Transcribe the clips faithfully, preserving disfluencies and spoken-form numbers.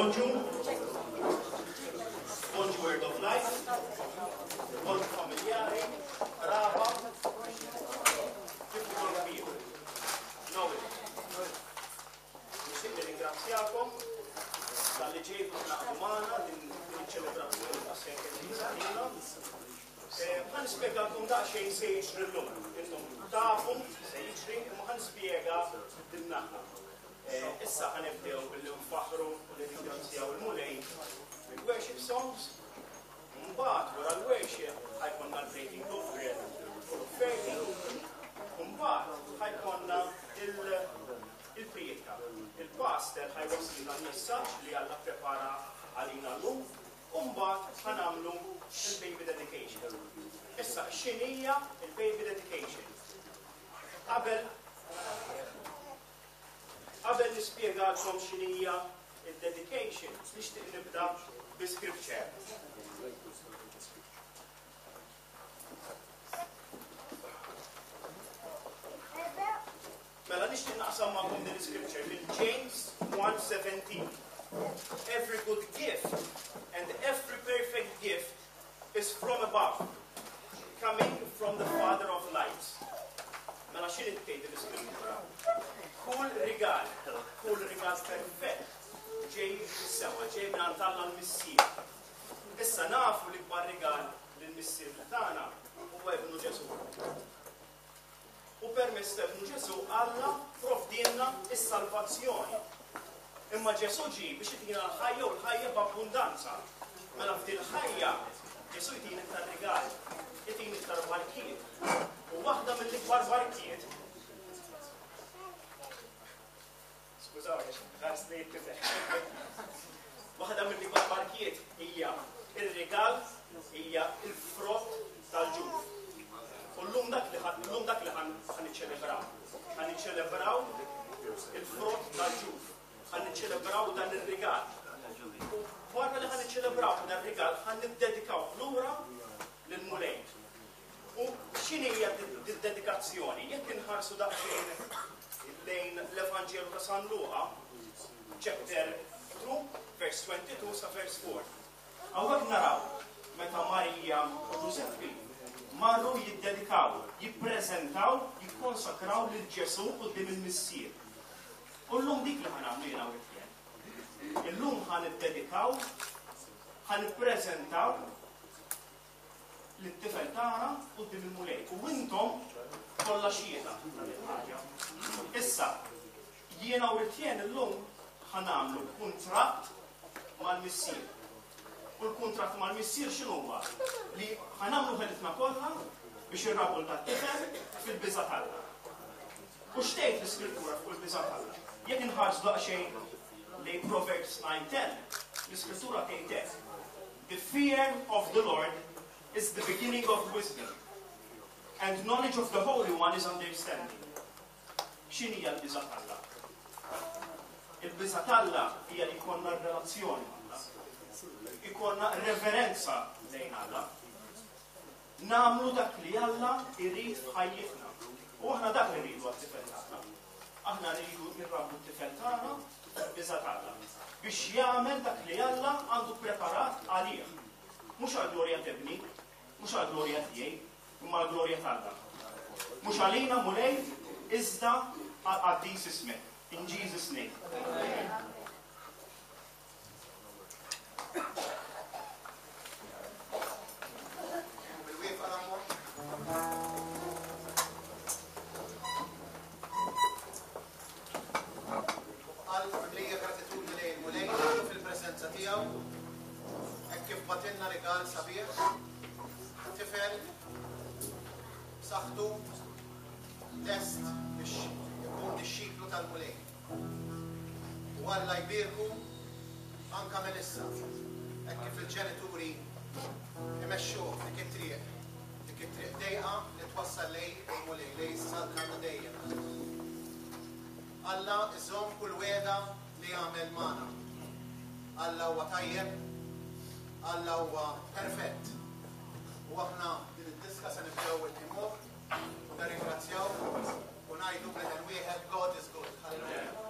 Bonġu. Bonġu Word of Life. Bonġu familjari, qraba, kif ukoll kbir. Noel. Nixtieq nirringrazzjakom talli ġejtu tingħaqdu magħna din iċ-ċelebrazzjoni ta' Saint għalina. Ħa nispjegalkom daqsxejn se jiġri llum. Intom tafu se jiġri, imma ħa nispjega din naħa. Issa ħa nibdew billi nfaħru u nirringrazzjaw il-Mulej bil-worship songs. Mbagħad wara l-worship ħa jkollna l-breaking of bread u l-offerti. Mbagħad ħa jkollna il-priedka. Il-pastor ħa jwasslilna l-messaġġ li Alla prepara għalina llum. U mbagħad ħa nagħmlu il-baby dedication. Issa, x'inhija il-baby dedication? Qabel Qabel nispjegalkom x'inhija il-dedication, nixtieq nibda bi scripture. Mela nixtieq naqsam magħkom din scripture minn James one seventeen. "Every good gift and every perfect gift is from above, coming from the Father of lights." Mela x'inhi tgħid l-iskrittura? Kull rigal, kull rigal perfett ġej mis-sema, ġej minn għand Alla l-Missier. Issa nafu li kbar rigal lill-Missier tagħna huwa ibnu Ġesu. U permezz ta' ibnu Ġesu Alla provdielna is-salvazzjoni. Imma Ġesu ġi biex itina l-ħajja u l-ħajja b'abbundanza. Mela f'dil ħajja Ġesu jtina iktar rigal, jtina iktar barkiet. U waħda mill-ikbar barkiet, skużawni, ħarsni tifel. Waħda mill-ikbar barkiet hija ir-rigal, hija il-frott tal-ġuf. U llum dak li llum dak li ħa niċċelebraw. Ħa niċċelebraw il-frott tal-ġuf. Ħa niċċelebraw dan ir-rigal. U wara li ħa niċċelebraw dan ir-rigal, ħa niddedikaw lura lill-Mulej. U x'inhi hija dedikazzjoni? Jekk inħarsu daqsxejn lejn l-Evanġelu ta' San Luqa, chapter two, verse twenty-two sa verse four. Hawnhekk naraw meta Marija u Giuseppi marru jiddedikaw, jippreżentaw, jikkonsakraw lil Ġesu quddiem il-Missier. U llum dik li ħa nagħmlu jiena u Etienne. Illum ħa niddedikaw, ħa nippreżentaw lit-tifel tagħna quddiem il-Mulej. U intom kollha xhieda ta' din ħaġa. Issa, jiena u Etienne illum ħa nagħmlu kuntratt mal-Missier. U l-kuntratt mal-Missier x'inhu huwa? Li ħa nagħmlu ħelitna kollha biex irrabbu dat-tifel fil-biża' t'Alla. U x'tgħid l-Iskrittura fuq il-biża' t'Alla? Jekk inħarsu daqsxejn lejn Proverbs nine ten, l-Iskrittura tgħid hekk: "The fear of the Lord is the beginning of wisdom, and knowledge of the Holy One is understanding." X'inhija l-biża' t'Alla? Il-biża' t'Alla hija li jkollna relazzjoni ma' Alla. Ikollna reverenza lejn Alla. Nagħmlu dak li Alla jrid f'ħajjitna. U aħna dak li rridu għat-tifel tagħna. Aħna rridu nrabbu t-tifel tagħna biża' t'Alla biex jagħmel dak li Alla għandu preparat għalih. Mhux għall-glorja t'ibni, mhux għall-glorja tiegħi, imma għall-glorja t'Alla. Mhux għalina, Mulej, iżda għal qaddis ismek. In Jesus' name. Amen. Bil-wieqfa l-ammont. Qalb mimlija gratitudni lejn il-Mulej fil-preżenza tiegħu, hekk kif bagħtilna rigal sabiħ, tifel b'saħħtu lest biex ikun dixxiplu tal-Mulej. U Alla jbierku anka minn issa, hekk kif il-ġenituri imexxuh dik it-triq, dik it-triq dejqa li twassal lejn il-Mulej, lejn is-saltna ta' dejjem. Alla iżomm kull wegħda li għamel magħna. Alla huwa tajjeb, Alla huwa perfett. U aħna din id-diska se nibdew il-imuh u nirringrazzjaw u ngħidu b'leħen wieħed, "God is good." Hallelujah.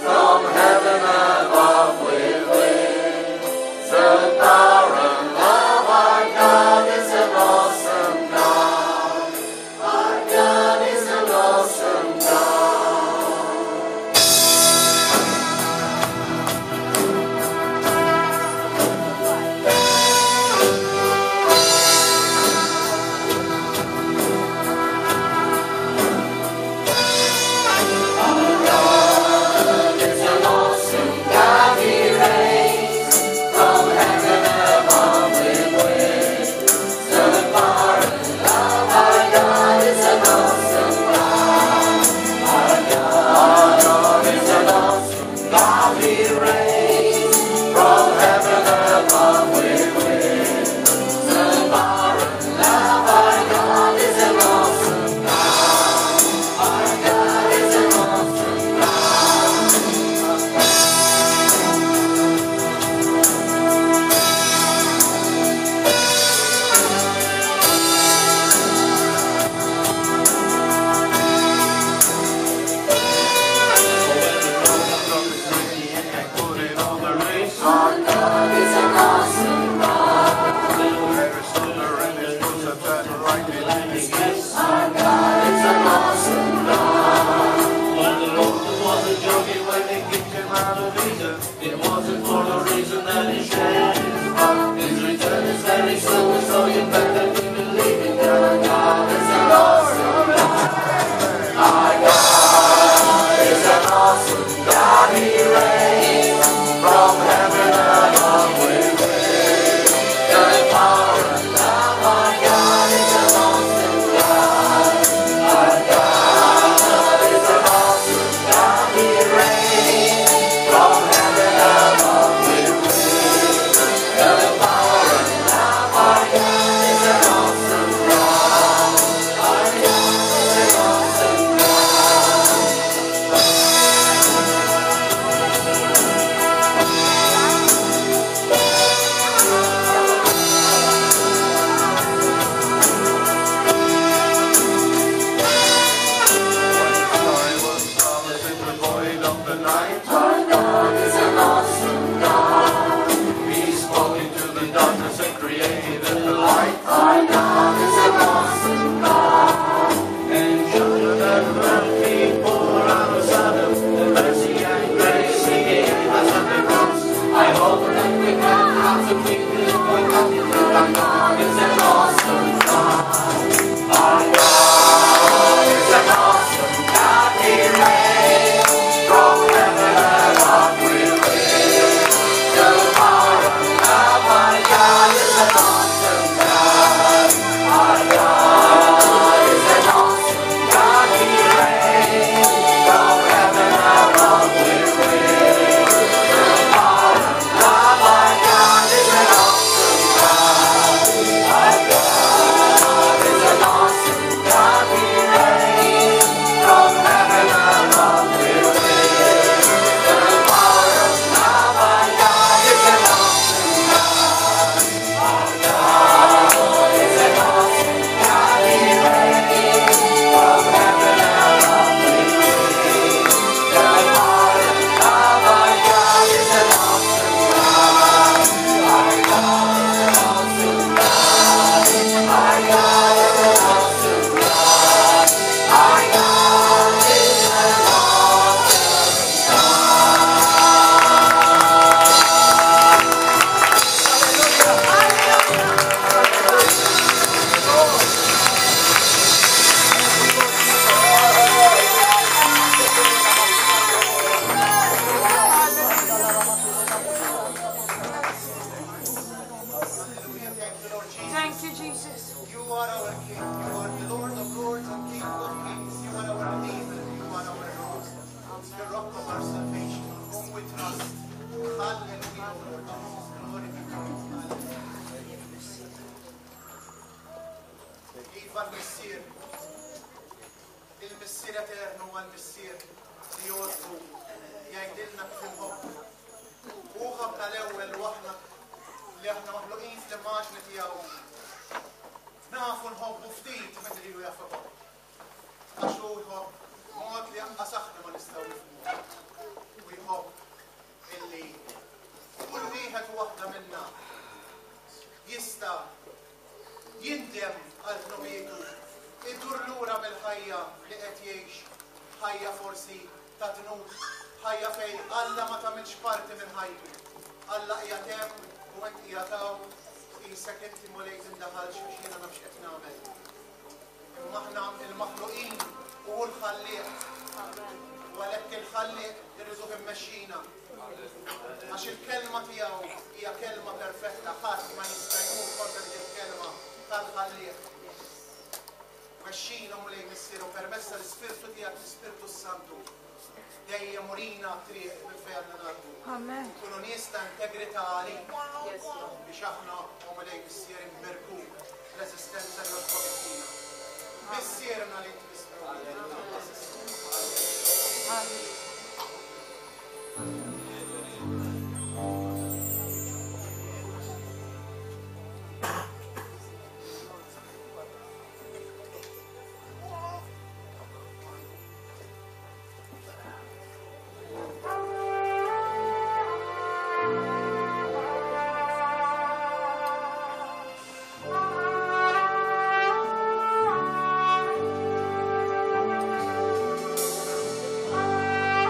From heaven in darkness and created the light. Our God is an awesome God. And mercy pour out of Sodom, the mercy and grace He gave us at the cross. I hope that we can have to keep this point attitude. Our God is an awesome God. Our God is an awesome God. He reigns from heaven above with wisdom, power, and love. Our God is an awesome God. Our God is an awesome God. He reigns from heaven above with wisdom, power, and love. Our God is an awesome God. Our God is an awesome God. He reigns from heaven above with wisdom, power, and love. Our God is an awesome God. Our God is an awesome God. He reigns from heaven above with wisdom, power, and love. Our God is an awesome God. Our God is an awesome God. Our God is an awesome God. Our God is an awesome Hallelujah. Thank you, Lord Jesus. Thank you, Jesus. You are our King. You are the Lord of Lords and King of Kings. You are our Redeemer. You are our Lord, the rock of our salvation, on whom we trust. Hallelujah, Lord Jesus. Glory be to you. Hallelujah. Iva l-Missier, il-Missier Eternu huwa l-Missier li jogħġbu jgħidilna kif inħobbu. Hu ħabbna l-ewwel u aħna li aħna maħluqin fl-immaġni tiegħu. Nafu nħobbu ftit meta lilu jaf iħobb. Għax hu jħobb mod li anqas aħna ma nistgħu nifhmu. U jħobb illi kull wieħed u waħda minna jista' jindem għal dnubietu, idur lura mill-ħajja li qed jgħix, ħajja forsi ta' dnub, ħajja fejn Alla ma tagħmilx parti minn ħajtu. Alla qiegħed hemm u int qiegħed hawn, qisek inti Mulej tindaħalx biex jiena naf x'qed nagħmel. Imma aħna il-maħluqin u hu l-ħallieq. U għalhekk il-ħallieq irriduh immexxina. Għax il-kelma tiegħu hija kelma perfetta, ħadd ma jista' jmur kontra dik il-kelma tal-ħallieq. Mexxina Mulej Missier u permezz tal-Ispirtu tiegħek, l-Ispirtu s-Santu, dejjem urina triq minn fejn għandna ngħaddu. Amen. Nkunu nies ta' integrità għalik biex aħna o Mulej Missier inberkuk l-eżistenza li għoġbok ittina. Missierna li inti Hallelujah. God.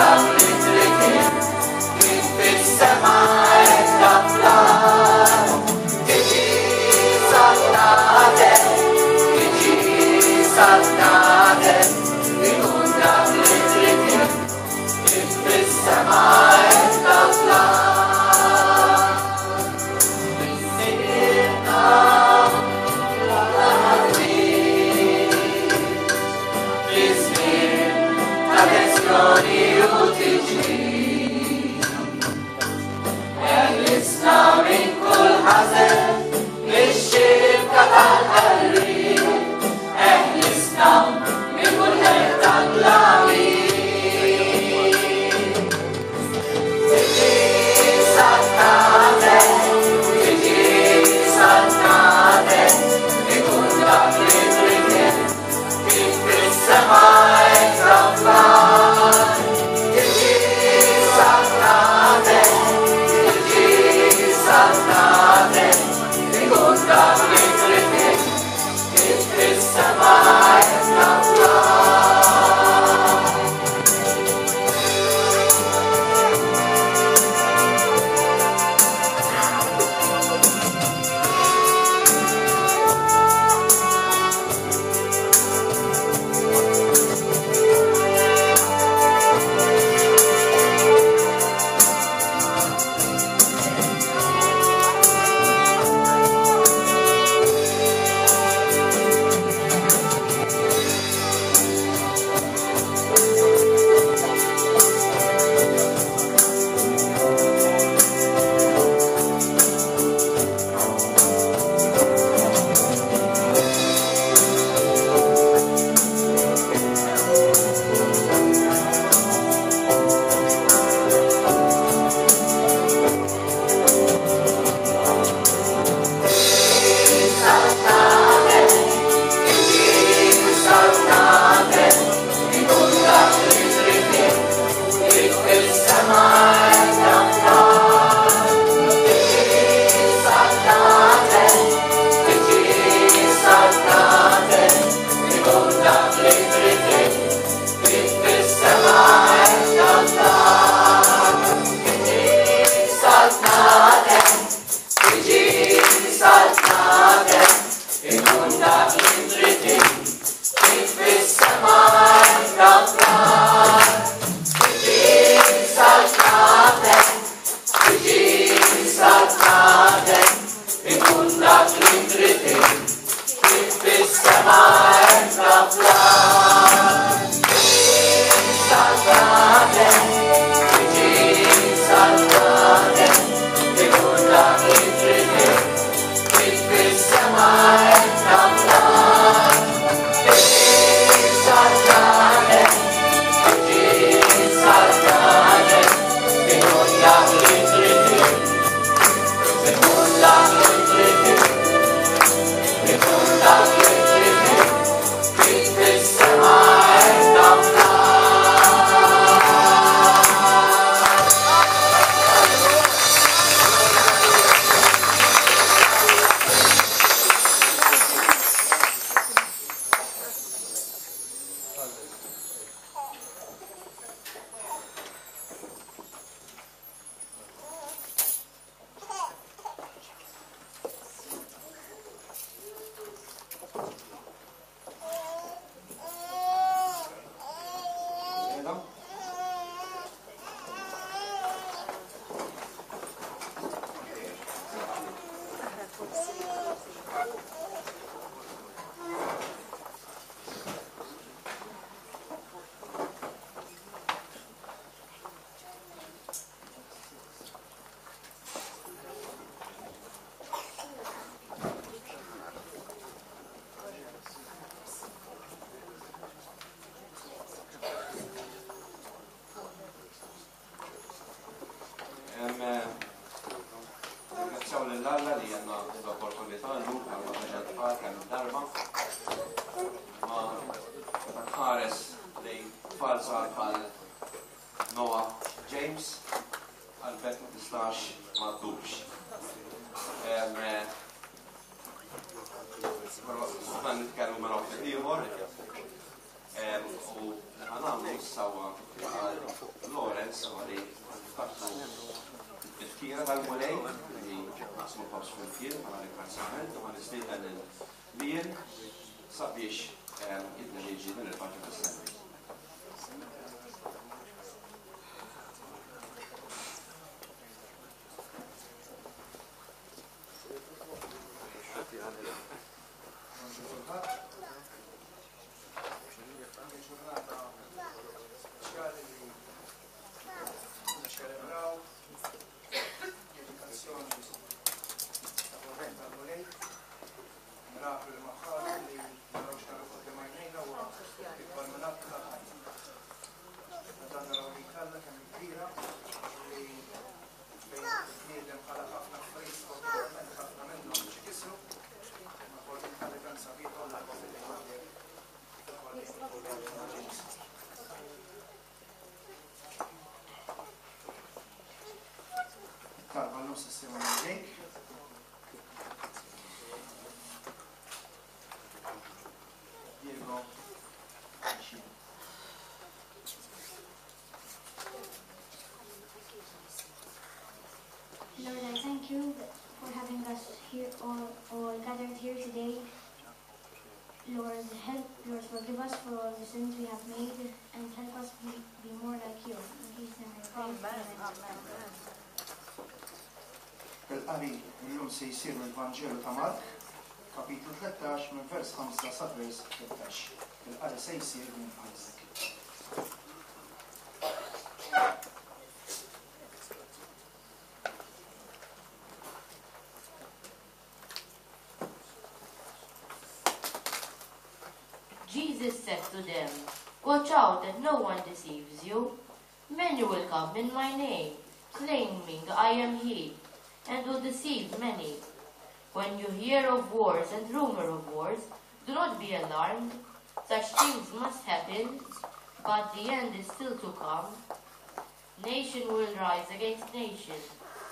dak li trid int, kif fis-sema hekk fl-art. Tiġi saltnatek, tiġi saltnatek, ikun dak li trid int, kif fis-sema hekk fl-art. Missierna l-ħaddiem, fi żmien ta' tensjoni u tiġrib. Eħlisna minn kull ħażen, mix-xibka tal-qarrieq. Eħlisna minn kull ħerq tal-lawim. Tiġi saltnatek, tiġi saltnatek, ikun dak li trid int, kif fis-sema hekk fl-art. Tiġi saltnatek, tiġi saltnatek, ikun dak li trid int, kif fis-sema hekk fl-art. Ringrazzjaw lil Alla li għandna l-opportunità llum għal ma tfal kemm darba. Ma meta nħares lejn tfal żgħar bħal Noah James, qalbek ma tistax ma ddumx. Però ħa nitkellmu minn waqt ieħor. U li ħa nagħmlu issa huwa għal tal-Mulej li naqsmu l-ħobż flimkien bħala ringrazzjament u ħa nistieden lil Lien sabiex jidderieġi din il-parti tas-servizz. Ġurnata speċjali li niċċelebraw dedikazzjoni ta' Korvent tal-Mulej, miraklu li maħħalu li naraw x'naraw quddiem għajnejna huwa ikbar minn att tal-ħajja. Dan naraw li Alla kemm kbira li fejn il-bniedem ħalaq ħafna affarijiet sfortunatament ħafna minnhom xi kisru, imma ħolqien Alla tant sabiħ u l-aqwa fil-lejl Talba l-lum s-sima Jake. Diego. Lord, I thank you for having us here all, all gathered here today. Lord, help, Lord, forgive us for all the sins we have made and help us be, be more like you. In Jesus' name I pray. Amen. Il-qari illum se jsir mill-Vanġelu ta' Mark, kapitlu tlettax minn vers ħamsa sa vers tlettax. Il-qari se jsir minn Isaac. Jesus said to them, "Watch out that no one deceives you. Many will come in my name, claiming I am he, and will deceive many. When you hear of wars and rumor of wars, do not be alarmed. Such things must happen, but the end is still to come. Nation will rise against nation,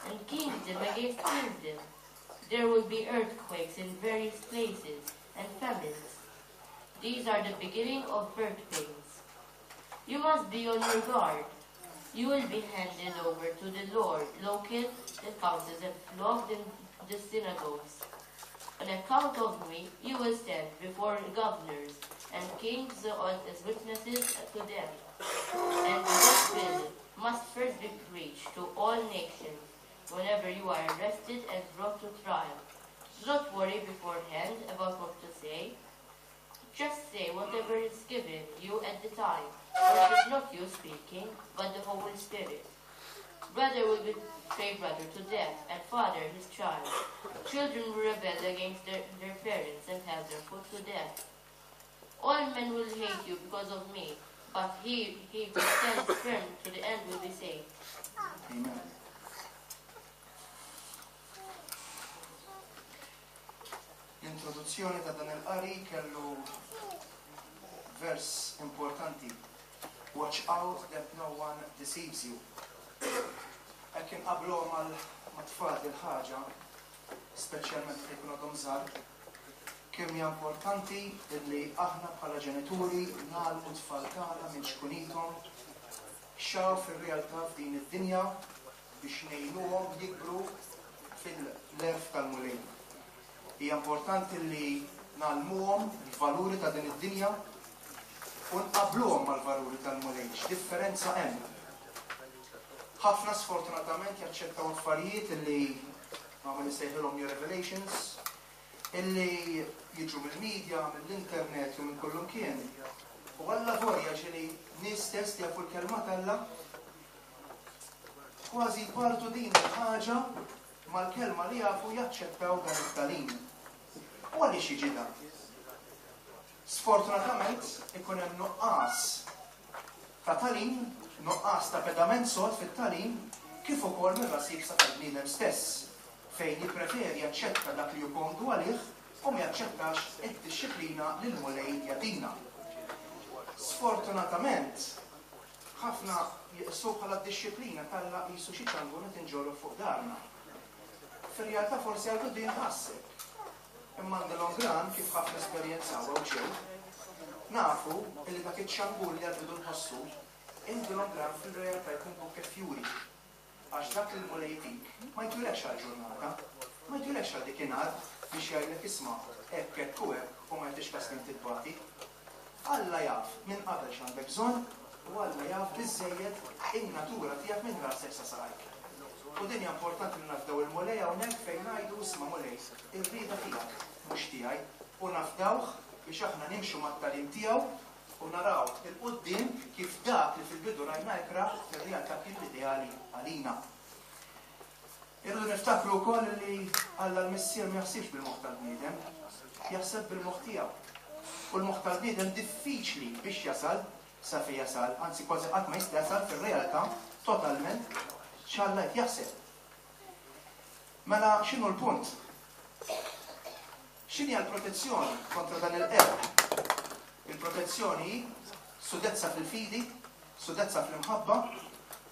and kingdom against kingdom. There will be earthquakes in various places and famines. These are the beginning of birth pains. You must be on your guard. You will be handed over to the Lord, local, the councils, and flogged in the synagogues. On account of me, you will stand before governors and kings as witnesses to them. And the gospel must first be preached to all nations whenever you are arrested and brought to trial. Do not worry beforehand about what to say. Just say whatever is given you at the time, for it is not you speaking, but the Holy Spirit. Brother will betray brother to death, and father his child. Children will rebel against their, their parents and have them put to death. All men will hate you because of me, but he, he who stands firm to the end will be saved." Amen. L-introduzzjoni ta' dan il-qari kellu vers importanti. Watch out that no one deceives you. Hekk inqablu mal-tfal il-ħaġa, speċjalment fejn ikunu għadhom żgħar, kemm hija importanti li aħna bħala ġenituri nagħlmu t-tfal tagħna minn xkunithom x'hawn fir-realtà f'din id-dinja biex ngħinuhom jikbru fil-lerf tal-Mulej. Hija importanti li nagħlmuhom il-valuri ta' din id-dinja u nqabluhom mal-valuri tal-Mulej. X'differenza hemm? Ħafna sfortunatament jaċċettaw affarijiet illi ma nsejħilhom new revelations, illi jiġu mill-medja, mill-internet u minn kullimkien. U Alla vorja ġieli nies stess li jafu l-kelma t'Alla kważi jpartu din il-ħaġa mal-kelma li jafu jaċċettaw dan it-tagħlim. U għaliex jiġi dan? Sfortunatament ikun hemm nuqqas ta' tagħlim, nuqqas ta' pedament sod fit-tagħlim, kif ukoll mir-ras iebsa tal-bniedem stess, fejn jippreferi jaċċetta dak li hu komdu għalih u ma jaċċettax id-dixxiplina li l-Mulej jagħtina. Sfortunatament, ħafna jiqsu bħala d-dixxiplina t'Alla qisu xi ċangur li tinġorru fuq darna. Fir-realtà forsi għal bidu jinħasseb. Imma in the long run, kif ħafna esperjenzaw hawn ġew, nafu li dak iċ-ċangur li għal bidu nħossu, in the long run fil-realtà jkun bouquet fjuri. Għax dak li l-Mulej jtik ma jtulekx għal ġurnata, ma jtulekx għal dikinhar biex jgħidlek isma' hekk hekk u hekk u ma jagħtix kas kemm titbati. Alla jaf minn qabel x'għandek bżonn u Alla jaf biżżejjed in-natura tiegħek minn rasek sa saqajk. U din hija importanti li nafdaw il-Mulej hawnhekk fejn ngħidu isma' Mulej, ir-rieda tiegħek mhux tiegħi u nafdawh biex aħna nimxu mat-tagħlim tiegħu u naraw 'il quddiem kif dak li fil-bidu rajna ikrah fir-realtà kien l-ideali għalina. Irridu niftakru wkoll li Alla l-Missier ma jaħsibx bil-moħħ tal-bniedem, jaħseb bil-moħħ tiegħu. U l-moħħ tal-bniedem diffiċli biex jasal sa fejn jasal, anzi kważi qatt ma jista' jasal fir-realtà totalment x'Alla qed jaħseb. Mela x'inhu l-punt? X'inhi l-protezzjoni kontra dan il-qerq? Il-protezzjoni hi sudezza fil-fidi, sudezza fl-imħabba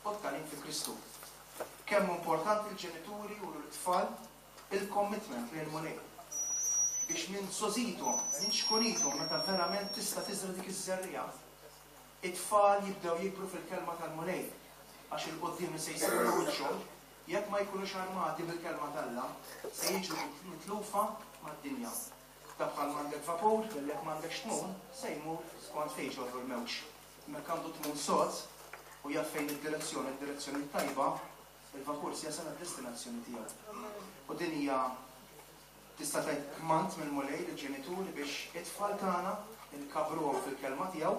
u t-tagħlim fi Kristu. Kemm importanti l-ġenituri u l-tfal il-commitment lejn Mulej. Biex minn żgħożithom, minn ċkunithom, meta verament tista' tiżra dik iż-żerriegħa, it-tfal jibdew jikbru fil-kelma tal-Mulej. Għax 'il quddiem se jsiru wiċċhom, jekk ma jkunux armati bil-kelma t'Alla, se jiġu mitlufa mad-dinja. Ta' bħal m'għandek vapur, jekk m'għandekx tmun, se jmur skont fejn ġorru l-mewġ. Mekk għandu tmun sod u jaf fejn id-direzzjoni, id-direzzjoni tajba, il-vapur se jasal għad-destinazzjoni tiegħu. U din hija tista' tgħid kmand mill-Mulej lill-ġenituri biex it-tfal tagħna nkabbruhom fil-kelma tiegħu,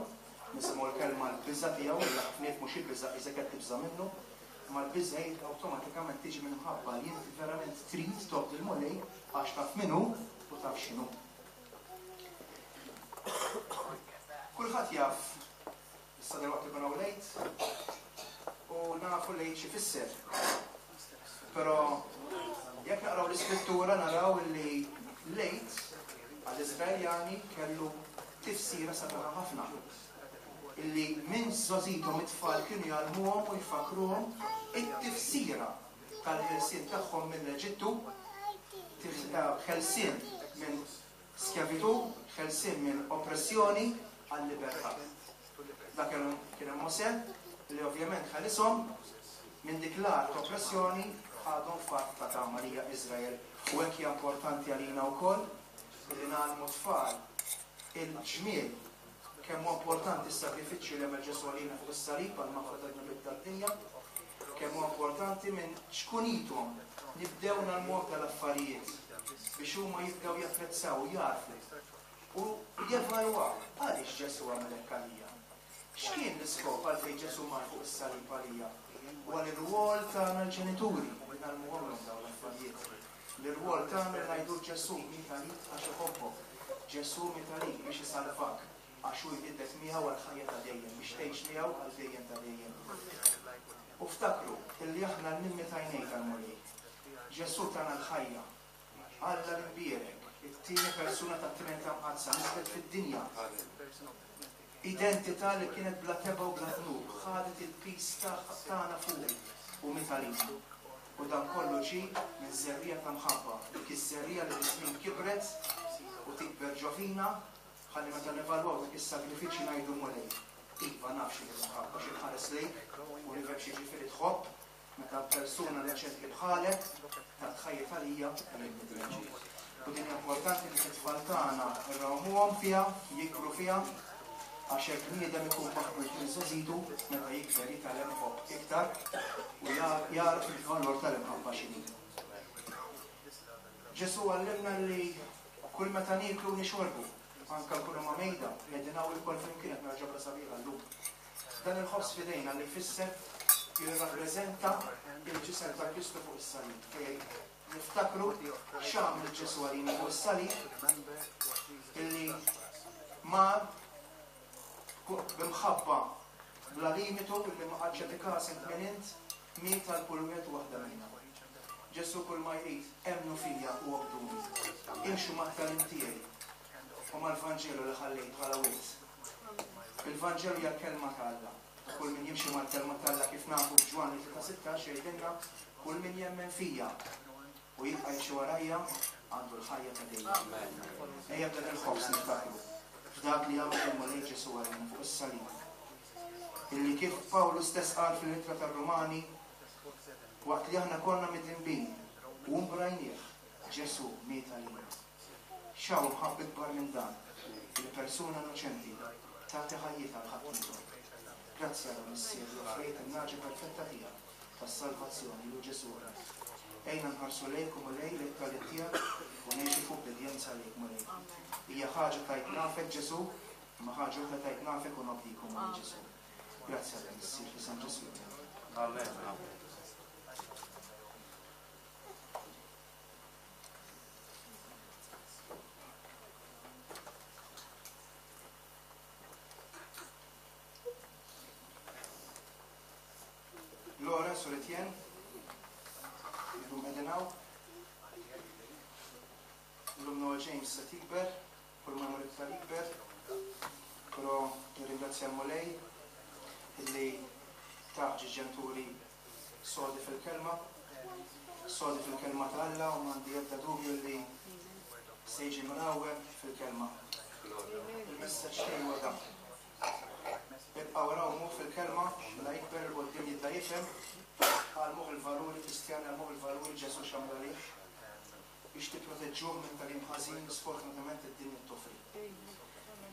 nisimgħu l-kelma l-biża' tiegħu, li ħafna mhux il-biża' iżda qed tibża' minnu, imma l-biża' awtomatikament tiġi minn mħabba li inti verament trid tobdi l-Mulej għax taf min hu u taf x'inhu. Kulħadd jaf issa dalwaqt ikun hawn l-Għid u nafu l-Għid xi fisser. Però jekk naqraw l-Iskrittura naraw li l-Għid għall-Iżraeljani kellu tifsira sabiħa ħafna. Illi minn żgħożithom it-tfal kienu jgħallmuhom u jfakruhom it-tifsira tal-ħelsien tagħhom mill-Eġittu, ħelsien minn skjavitu, ħelsien minn oppressjoni għal-libertà. Dak kien hemm Mosè li ovvjament ħelishom minn dik l-art oppressjoni ħadhom f'art ta' tama li hija Iżrael. U hekk hija importanti għalina wkoll li ngħallmu tfal il-ġmiel kemm huwa importanti s-sagrifiċċju li għamel Ġesù għalina fuq is-salib għal maħfra tad-dnubiet tad-dinja, kemm huwa importanti minn ċkunithom nibdew nagħlmuhom tal-affarijiet biex huma jibdew japprezzaw, jarfu u jevalwaw għaliex Ġesù għamel hekk għalija. X'kien l-iskop għalfejn Ġesù mar fuq is-salib għalija? U għal ir-rwol tagħna l-ġenituri li ngħallmuhom dawn l-affarijiet. L-irwol tagħna li ngħidu Ġesù miet għalik għax iħobbok. Ġesù miet għalik biex isalvak għax hu jridek miegħu għall-ħajja ta' dejjem, biex tgħix miegħu għal dejjem ta' dejjem. U ftakru illi aħna l-mimmi t'għajnejn tal-Mulej. Ġesù tana l-ħajja. Alla l-imbierek, it-tieni persuna tat-Trinità Mqaddsa niżlet fid-dinja. Identità li kienet bla tebgħa u bla dnub, ħadet il-piż tagħna fuq u miet għalina. U dan kollu ġie minn żerriegħa ta' mħabba, dik iż-żerriegħa li biż-żmien kibret u tikber ġo fina, ħalli meta nevalwaw dak is-sagrifiċċju ngħidu Mulej. Iva naf x'inhi l-mħabba, xi nħares lejk u nifhem xi ġifieri tħobb meta persuna neċenti bħalek ta' tħajja għalija U din importanti li t-tfal tagħna nrawmuhom fiha, jikbru fiha, għax hekk bniedem ikun maħbub minn żgħożitu meta jikber jitgħallem iħobb iktar u jagħraf il-valur tal-imħabba x'inhi. Ġesù għallimna li kull meta nieklu nixorbu, anke nkunu ma' mejda, qegħdin hawn ilkoll flimkien qed nara ġabra sabiħa llum. Dan il-ħobż f'idejna li jfisser jirrappreżenta il-ġisem ta' Kristu fuq is-salib. Fejn niftakru x'għamel Ġesù għalina fuq is-salib illi mar b'imħabba bla limitu illi ma qagħadx jagħti każ int min int miet għal kull wieħed u waħda minna. Ġesù kull ma jrid emmnu fija u obduni. Imxu mat-tagħlim tiegħi u mal-Vanġelu li ħallejt bħala wirt. Il-Vanġelu hija l-kelma ta' Alla. Kull min jimxi mal-kelma ta' Alla kif nafu f'Ġwanni tlieta sittax jgħidilna kull min jemmen fija u jibqa' jimxi warajja għandu l-ħajja ta' dejjem. Ejja b'dan il-ħobż niftakru f'dak li għamel il-Mulej Ġesù għalina fuq is-salib. Illi kif Pawlu stess qal fil-ittra tar-Rumani, Waqt li aħna konna midinbin u mbrajnieh, Ġesù miet għalina. X'hawn mħabba ikbar minn dan li persuna innoċenti tagħti ħajjitha għal ħaddieħor. Grazzi Alla Missier li offrejt in-nagħġa perfetta tiegħek tas-salvazzjoni lu Ġesù. Ejna nħarsu lejk u Mulej lejn it-tagħlim tiegħek u ngħixu f'ubbidjenza lejk Mulej. Hija ħaġa tajt nafek Ġesù, imma ħaġa oħra tajt nafek u nobdik o Mulej Ġesù. Grazzi Alla Missier f'isem Ġesù. Amen. Lawrence u Etienne, illum qegħdin hawn. Illum Noah James se tikber, kull ma jmur iktar jikber, però nirringrazzja l-Mulej illi taħ ġenituri sodi fil-kelma, sodi fil-kelma ta' Alla u m'għandi ebda dubju li se jiġi mrawwem fil-kelma. Il-messaġġ tiegħi huwa dan. Ibqgħu rawmu fil-kelma, la jikber 'il quddiem jibda jifhem, għallmuh il-valuri Kristjani, għallmuh il-valuri Ġesù x'għamel għalih, biex tipproteġġuh minn tagħlim ħażin li sfortunatament id-dinja toffri.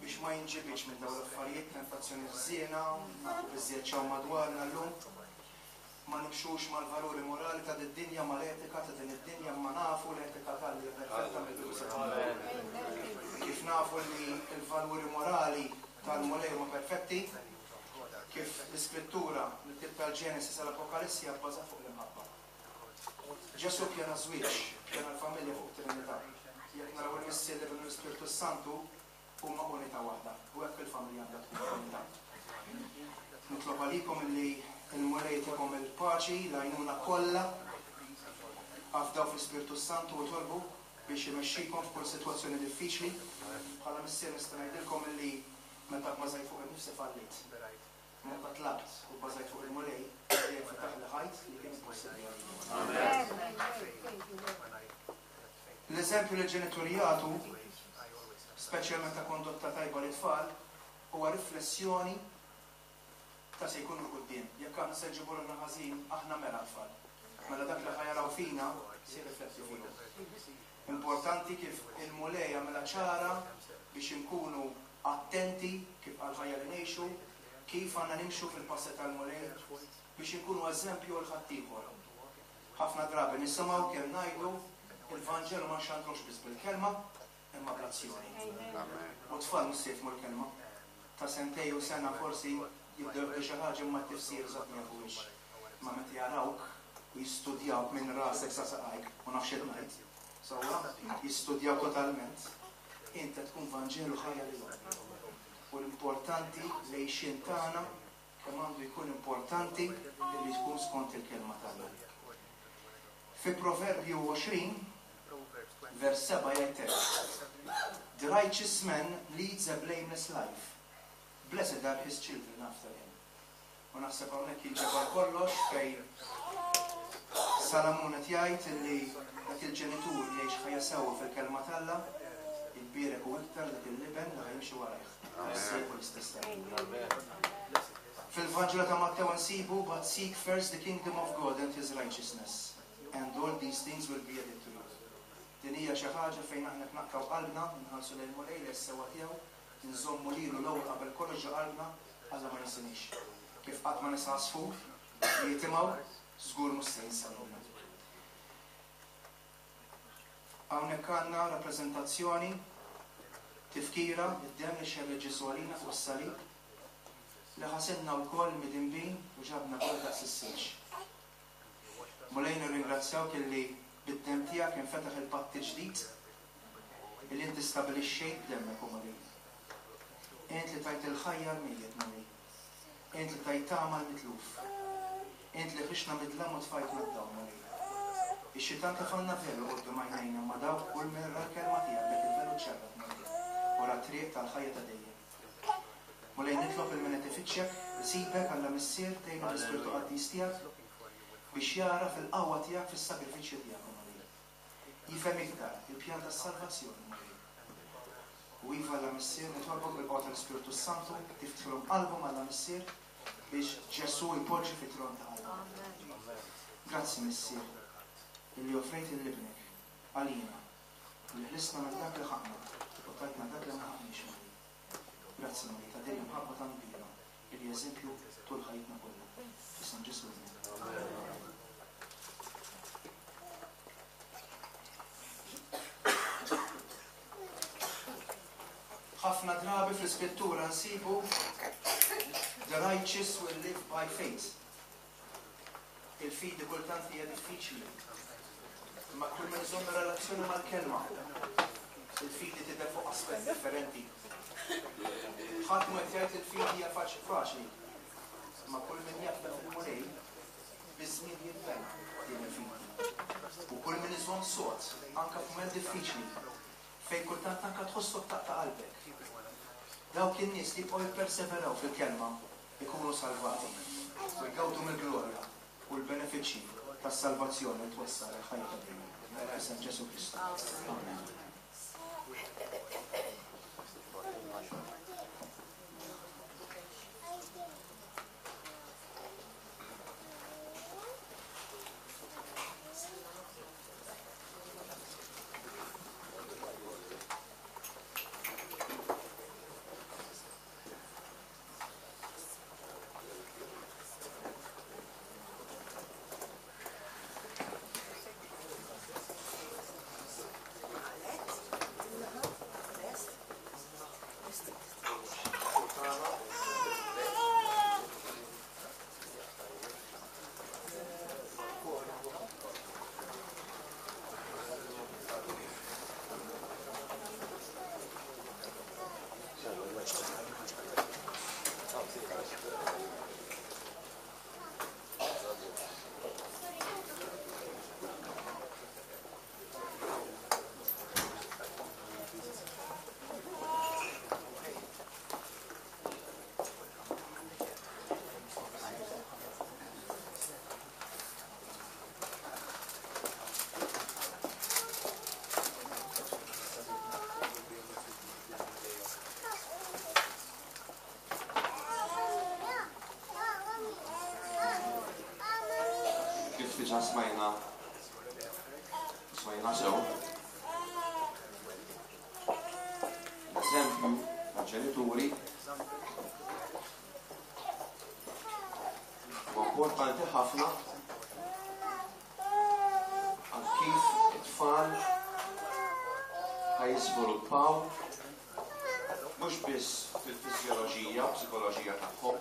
Biex ma jinġibidx minn dawn l-affarijiet, tentazzjoni ħżiena, nafu biżżejjed x'hawn madwarna llum, ma nimxux mal-valuri morali ta' din-dinja, mal-etika ta' din id-dinja, ma nafu l-etika ta' Alla hija perfetta mill-bidu sa tmiem. Kif nafu li l-valuri morali tal-Mulej huma perfetti, kif l-Iskrittura mill-Ktieb tal-Ġenesi sal-Apokalissi hija bbażata fuq l-imħabba. Ġesù pjana żwieġ, pjana l-familja fuq Trinità. Jekk naraw il-Missier, l-Iben u l-Ispirtu Santu huma unità waħda, u hekk il-familja għandha tkun unità. Nitlob għalikom illi l-Mulej jtikom il-paċi, l-għajnuna kollha, afdaw fl-Ispirtu Santu u tolbu biex imexxikom f'kull sitwazzjoni diffiċli. Bħala missier nista' ngħidilkom illi meta bbażajt fuq innifsi fallejt. Meta tlabt u bbażajt fuq il-Mulej, dejjem fetaħ li ħajt li kien impossibbli għalija. L-eżempju li l-ġenituri jagħtu, speċjalment ta' kondotta tajba lit-tfal, huwa riflessjoni ta' se jkunu l-quddiem. Jekk aħna se nġibu ruħna ħażin, aħna mela tfal. Mela dak li ħa jaraw fina se jirrifletti fihom. Importanti kif il-Mulej jagħmilha ċara biex inkunu attenti kif għal-ħajja li ngħixu, kif għandna nimxu fil-passi tal-Mulej biex inkunu eżempju għal ħaddieħor. Ħafna drabi nisimgħu kemm ngħidu il-Vanġelu ma nxandrux biss bil-kelma imma bl-azzjoni. U tfal mhux se jifhmu l-kelma. Ta' sentej u sena forsi jibdew jgħidu xi ħaġa imma t-tifsir eżatt ma jafuhiex. Ma meta jarawk u jistudjawk minn rasek sa saqajk u nafx x'qed ngħid. Sewwa, jistudjaw totalment. Inta tkun Vanġelu ħajja lilhom. U l-importanti l-għixien tagħna kemm għandu jkun importanti li tkun skont il-kelma tagħna. Fi Proverbju għoxrin, vers seba' jgħid hekk: The righteous man leads a blameless life. Blessed are his children after him. U naħseb hawnhekk jinġabar kollox fejn Salamun qed jgħid illi dak il-ġenitur li jgħix ħajja sewwa fil-kelma t'Alla jitbierek u iktar dak il-liben li ħa jimxi warajh. Is-seklu l-istess Fil-Vanġelu ta' Mattew nsibu, but seek first the kingdom of God and his righteousness, and all these things will be added to you. Din hija xi ħaġa fejn aħna naqtgħu qalbna, nħarsu lejn Mulej lejn is-sewwa tiegħu, nżommu lilu l-ewwel qabel kollox ġo qalbna, Alla ma jinsinix. Kif qatt ma nisa għasfur li jitimgħu, żgur mhux se jinsa lilna. Hawnhekk għandna rappreżentazzjoni tifkira id-demm li xerred Ġesù għalina fuq is-salib, li ħasilna wkoll midinbin u ġabna wkoll daqs is-silġ. Mulej nirringrazzjawk illi bid-demm tiegħek infetaħ il-patt il-ġdid illi inti stabilixxejt b'demmek o Mulej. Int li tajt il-ħajja l-mejjet Mulej. Int li tajt tama l-mitluf. Int li ħriġna mid-dlam u tfajtna d-dawl Mulej. Ix-xitan tefgħalna velu quddiem għajnejna ma dawk kull min ra l-kelma tiegħek dak il-velu ċċarrat Mulej u ra t-triq tal-ħajja ta' dejjem. Mulej nitlob il min qed ifittxek, isibek Alla Missier tgħinu l-Ispirtu Qaddis tiegħek biex jara fil-qawwa tiegħek fis-sagrifiċċju tiegħek Mulej. Jifhem iktar il-pjan tas-salvazzjoni Mulej. U iva Alla Missier nitolbok bil-qawwa tal-Ispirtu Santu tiftħilhom qalbhom Alla Missier biex Ġesù jpoġġi fit-tron ta' qalbhom. Grazzi Missier, illi offrejt lil ibnek għalina, li ħlisna minn dak li ħaqqna u tajtna dak li ma ħaqqniex Mulej. Grazzi Mulej ta' din l-imħabba tant kbira, illi eżempju tul ħajjitna kollha. F'isem Ġesù. Ħafna drabi fl-iskrittura nsibu the righteous will live by faith. Il-fidi kultant hija diffiċli. Imma kull min iżomm relazzjoni mal-kelma, il-fidi tidher fuq aspett differenti. Ħadd mu qed jgħid il-fidi hija faċli. Imma kull min jafda fil-Mulej biż-żmien jinbena din il-fidi. U kull min iżomm sod anke f'mument diffiċli fejn kultant anke tħossok taqta' qalbek. Dawk in-nies li jibqgħu jipperseveraw fil-kelma ikunu salvati u jgawdu mill-glorja u l-benefiċċji tas-salvazzjoni li twassal il-ħajja ta' dejjem. F'isem Ġesù Kristu. Amen. Diġà smajna smajna sew. L-eżempju ta' ġenituri huwa importanti ħafna għal kif it-tfal ħa jiżviluppaw mhux biss fil-fiżjoloġija u psikoloġija tagħhom,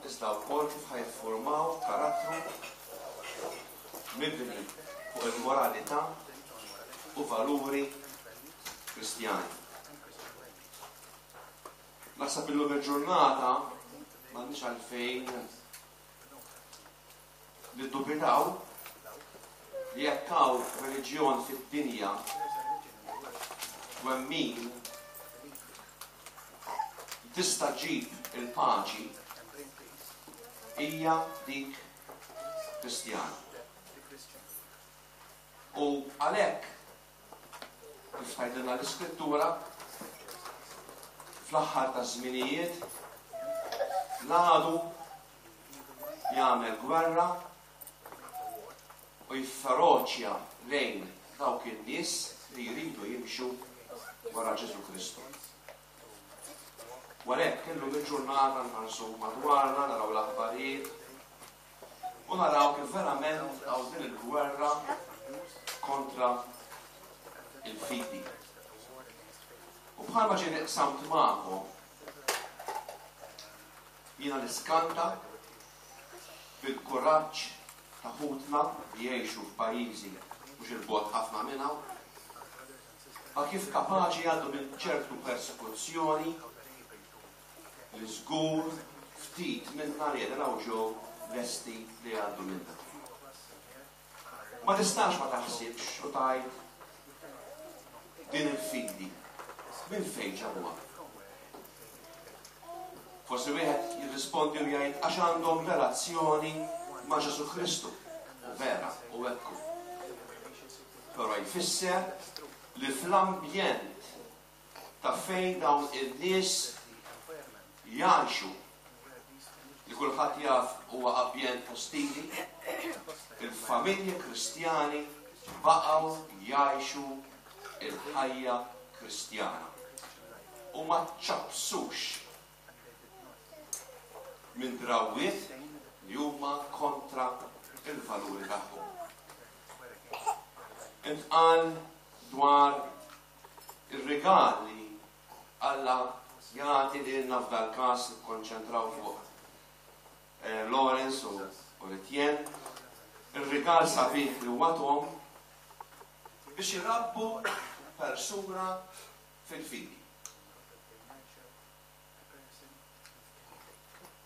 iżda wkoll kif ħa jiffurmaw karattru mibni fuq il-moralità u valuri kristjani. Naħseb illum il-ġurnata m'għandniex għalfejn niddubitaw li jekk hawn reliġjon fid-dinja twemmin tista' ġġib il-paċi hija dik kristjana. U għalhekk, kif tgħidilna l-Iskrittura, fl-aħħar taż-żminijiet l-għadu jagħmel gwerra u jifferoċja lejn dawk in-nies li jridu jimxu wara Ġesù Kristu. U għalhekk illum il-ġurnata nħarsu madwarna, naraw l-aħbarijiet u naraw kif verament hawn din il-gwerra kontra il-fidi. U bħalma ġie qsamt magħkom, jiena niskanta bil-kuraġġ ta' ħutna li jgħixu f'pajjiżi mhux il-bogħod ħafna minn hawn, ma kif kapaċi jgħaddu minn ċertu persekuzzjoni li żgur ftit minna li qegħdin hawn ġew lesti li jgħaddu minnha. Ma tistax ma taħsibx u tgħid din il-fidi minn fejn ġabuha. Forsi wieħed jirrispondi u jgħid għax għandhom relazzjoni ma' Ġesù Kristu. U vera, u ekku. Però jfisser li fl-ambjent ta' fejn dawn in-nies jgħixu li kulħadd jaf huwa ambjent ostili, il-familji Kristjani baqgħu jgħixu il-ħajja Kristjana u ma ċċappsux minn drawwiet li huma kontra il-valuri tagħhom. Intqal dwar ir-rigal li Alla jagħti lilna, f'dal każ nikkonċentraw fuq eh, Lawrence u Etienne, ir-rigal sabiħ li huwa tahom biex irabbu persuna fil-fidi.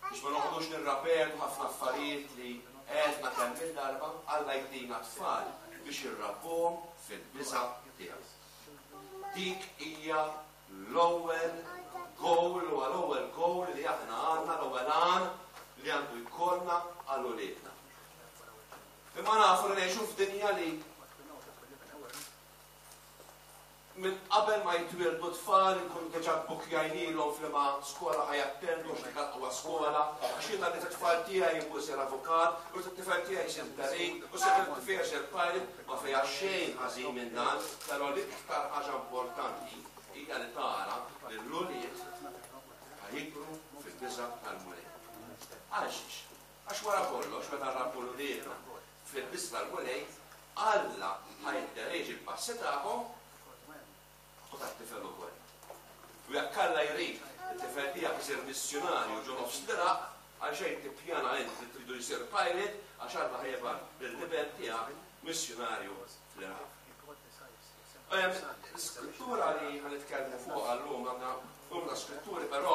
Biex ma noqogħdux nirrapetu ħafna affarijiet li għedna kemm il-darba, Alla jtina tfal biex irrabbuhom fil-biża' tiegħu. Dik hija l-ewwel goal, huwa l-ewwel goal li aħna għandna, l-ewwel għan li għandu jkollna għal uliedna. Imma nafu li ngħixu f'dinja li minn qabel ma jitwieldu tfal inkunu diġà bbukkjajnilhom f'liema skola ħa jattendu għax dik aqwa skola, għax jiena rrid it-tfal tiegħi jkun isir avukat, u rrid it-tifel tiegħi jsir perit, u rrid it-tifel tiegħi jsir pilot, ma fiha xejn ħażin minn dan, però l-iktar ħaġa importanti hija li tara li l-ulied ħa jikbru fil-biża' tal-Mulej. Għalxiex? Għax wara kollox meta nrabbu l-uliedna fil-biża' tal-Mulej, Alla ħa jidderieġi l-passi tagħhom u tat-tifel ukoll. U jekk Alla jrid it-tifel tiegħek isir missjunarju ġo nofs l-Iraq, għalxejn tippjana int li tridu jsir pilot, għax Alla ħa jibgħat lill-iben tiegħek missjunarju fl-Iraq. L-iskrittura li ħa nitkellmu fuqha llum, għandna numru ta' skritturi, però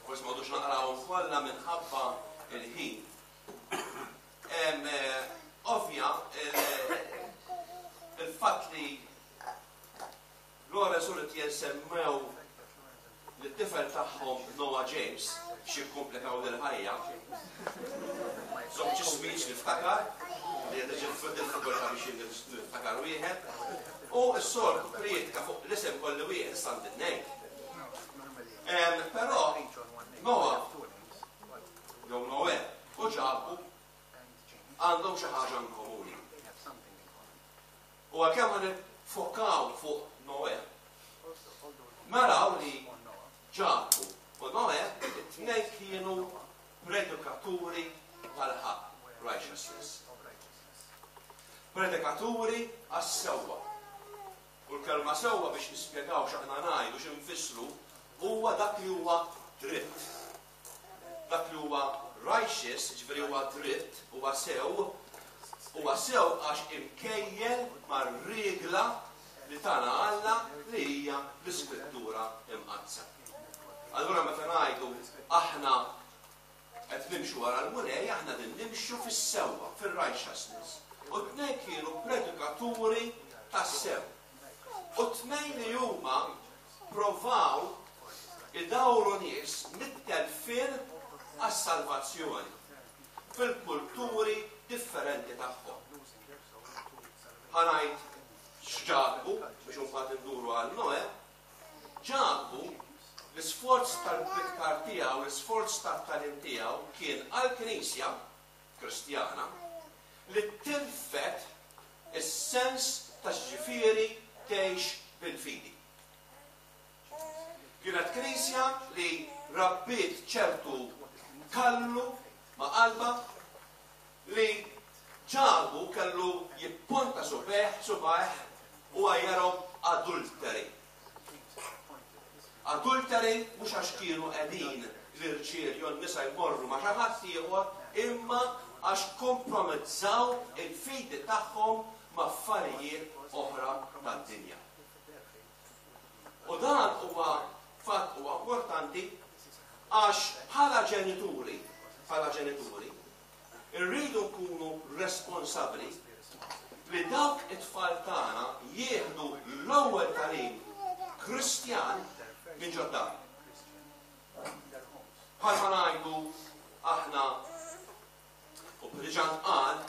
forsi ma għodux naqrawhom kollha minħabba il-ħin. Ovvja, il-fatt li Lawrence u Etienne semmew lit-tifel tagħhom Noah James biex jikkomplikaw lill-ħajja. Żewġ ismijiet niftakar, li qed iġib diffikultà biex niftakar wieħed. U s-soltu prietka fuq l-isem kolli wieħed issa għandi tnejn. Però Noah jew Noè u Ġakbu għandhom xi ħaġa komuni. U għalkemm ħa niffokaw fuq Noè, naraw li Ġakbu u Noè it-tnejn kienu predikaturi tal-ħaqq, righteousness. Predikaturi għas-sewwa. U l-kelma sewwa biex nispjegaw x'aħna ngħidu x'infissru huwa dak li huwa dritt. Dak li huwa righteous, ġifieri huwa dritt, huwa sew, huwa sew għax imkejjel mar-regla li tana Alla li hija l-Iskrittura Imqaddsa. Allura meta ngħidu aħna qed nimxu wara l-Mulej, aħna din nimxu fis-sewwa, fir-righteousness. U tnejn kienu predikaturi tas-sew. U tnejn li huma provaw idawru nies mit-telfien għas-salvazzjoni fil-kulturi differenti tagħhom. Ħa ngħid x'Ġakbu biex imbagħad induru għal Noè. Ġakbu l-isforz tal-pritkar tiegħu, l-isforz tat-tagħlim tiegħu kien għall-Knisja Kristjana li tilfet is-sens ta' x'ġifieri tgħix bil-fidi. Kienet Knisja li rabbiet ċertu kallu ma' qalba li Ġakbu kellu jipponta subgħajh, subgħajh u għajjarhom adulteri. Adulteri mhux għax kienu qegħdin l-irġiel jew n-nisa jmorru ma' xi ħadd ieħor, imma għax kompromezzaw il-fidi tagħhom ma' affarijiet oħra tad-dinja. U dan huwa fatt huwa importanti għax bħala ġenituri, bħala ġenituri, irridu nkunu responsabbli li dawk it-tfal tagħna jieħdu l-ewwel tagħlim Kristjan minn ġod-dar. Bħalma ngħidu aħna u diġà ntqal,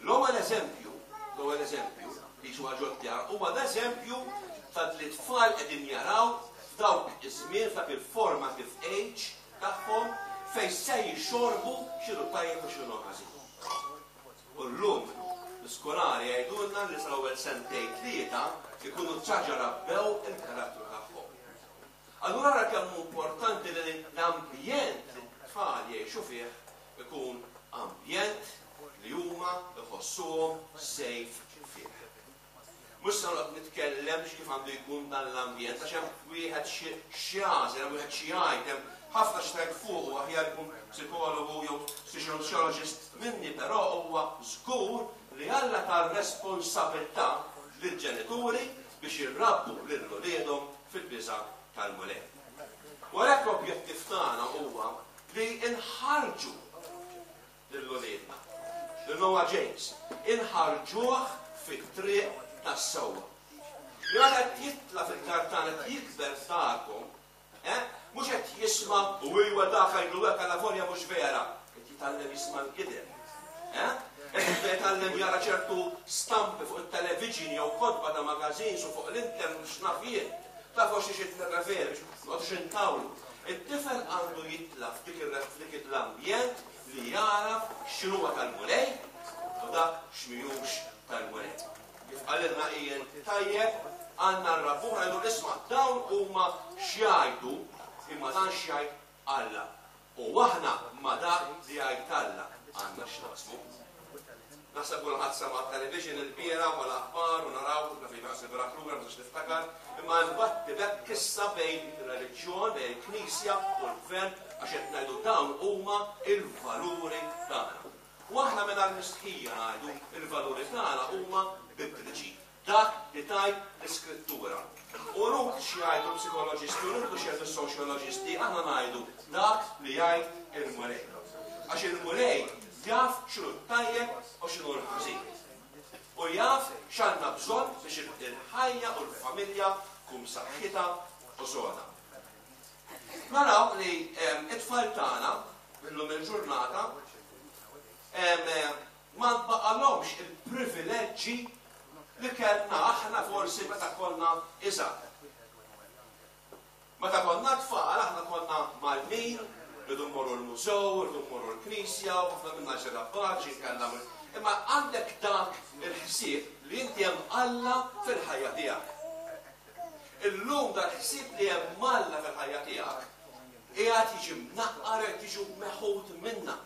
l-ewwel eżempju, l-ewwel eżempju li huwa ġod-dar huwa l-eżempju ta' li t-tfal qegħdin jaraw f'dawk iż-żmien, f'dak il-formative age tagħhom fejn se jixorbu x'inhu tajjeb u x'inhu ħażin. U llum l-iskolari jgħidulna li sal-ewwel sentejn tlieta ikunu ċaġa rabbew il-karattru tagħhom. Allura ara kemm hu importanti li l-ambjent li t-tfal jgħixu fih ikun ambjent li huma jħossuhom safe fih. Mhux se noqgħod nitkellem kif għandu jkun dan l-ambjent, għax hemm wieħed x'jagħżel, hemm wieħed xi jgħid, hemm ħafna x'tgħid fuq u aħjar ikun psikologu jew sociologist minni, però huwa żgur li Alla ta responsabilità lill-ġenituri biex irabbu lil uliedhom fil-biża' tal-Mulej. U għalhekk l-objettiv tagħna huwa li nħarġu lil uliedna, lil Noah James, inħarġuh fit-triq tas-sewwa. Li meta qed jitla' fid-dar tagħna qed jikber f'darkom, eh, mhux qed jisma' u iwa dak għidlu hekk għal mhux vera, qed jitgħallem jisma' l-gideb. Eh? Qed jibda jitgħallem jara ċertu stampi fuq it-television jew kotba ta' magazines u fuq l-internet x'naf jien. Tafu xi xi nirreferi biex noqgħodux intawlu. It-tifel għandu jitla' f'dik l-ambjent li jaraf x'inhuwa tal-Mulej u dak x'mhijiex tal-Mulej. Kif qalilna Ian tajjeb, għandna nrabbuh ngħidu isma' dawn huma x'jgħidu imma dan x'jgħid Alla. U aħna ma dak li jgħid Alla għandna x'naqsmu. Naħseb kulħadd sema' television il-bieraħ u l-aħbar u naraw naf li naħseb lura ma niftakar, imma nbatti bekk issa bejn ir-reliġjon, bejn il-Knisja u l-Gvern għax qed ngħidu dawn huma il-valuri tagħna. U aħna mingħajr mistħija ngħidu il-valuri tagħna huma bibliċi. Dak li tgħid l-Iskrittura. U rut x'jgħidu l-psikoloġisti, u rut x'jgħidu s-soċjoloġisti, aħna ngħidu dak li jgħid il-Mulej. Għax il-Mulej jaf x'inhu tajjeb u x'inhu l-ħażin. U jaf x'għandna bżonn biex il-ħajja u l-familja tkun saħħitha u soda. Naraw li it-tfal tagħna illum il-ġurnata ma nbaqalhomx il-privileġġi li kellna aħna forsi meta konna iżgħar. Meta konna tfal aħna konna malmin, rridu mmorru l-mużew, rridu mmorru l-knisja, u ħafna minna ġerabbaċi, kellna imma għandek dak il-ħsieb li inti hemm Alla fil-ħajja tiegħek. Illum dal-ħsieb li hemm Alla fil-ħajja tiegħek qiegħed jiġi mnaqqar qed jiġu meħud minna.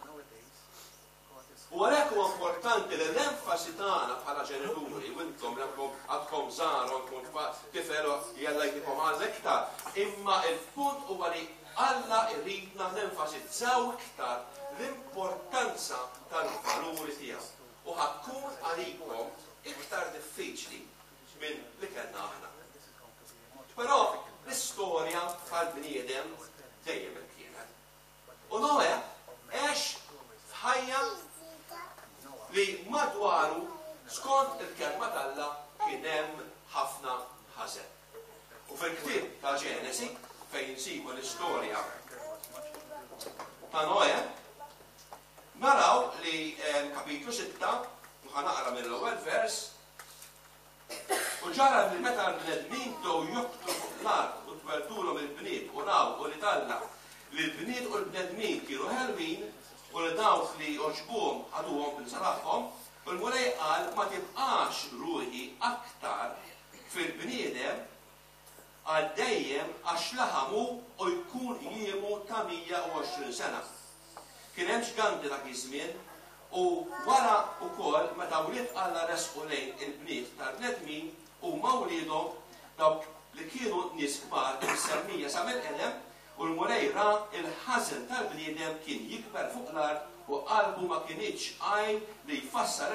U għalhekk huwa importanti li l-enfasi tagħna bħala ġenituri, u intom li għadkom żgħar u għandkom tifel jalla jtikom għal iktar, imma il-punt huwa li Alla jridna nenfasizzaw iktar l-importanza tal-valuri tiegħu. U ħa tkun għalikom iktar diffiċli minn li kellna aħna. Però l-istorja tal-bniedem dejjem kienet. U Noe għex f'ħajja li madwaru skont il-kelma t'Alla kien hemm ħafna ħażen. U fil-ktieb ta' Ġenesi fejn insibu l-istorja ta' Noe, naraw li kapitlu sitta, u ħa naqra mill-ewwel vers, u ġara li meta l-bnedmin bdew joktru fuq l-art u tweldulhom il-bniet u raw u li t'Alla li l-bniet u l-bnedmin kienu ħelwin u li dawk li għoġbuhom ħaduhom bil tagħhom, u l-Mulej qal ma tibqax ruħi aktar fil-bniedem għal dejjem għax laħamu u jkun jiemu ta' mija u għoxrin sena. Kien hemm ġganti dak iż-żmien u wara wkoll meta wlied Alla resqu lejn il-bniet tal-bnedmin u ma wliedhom dawk li kienu nies kbar imsemmija sa mill-qedem, u l-Mulej ra il-ħażen tal-bniedem kien jikber fuq l-art u qalbu ma kinitx għajn li jfassar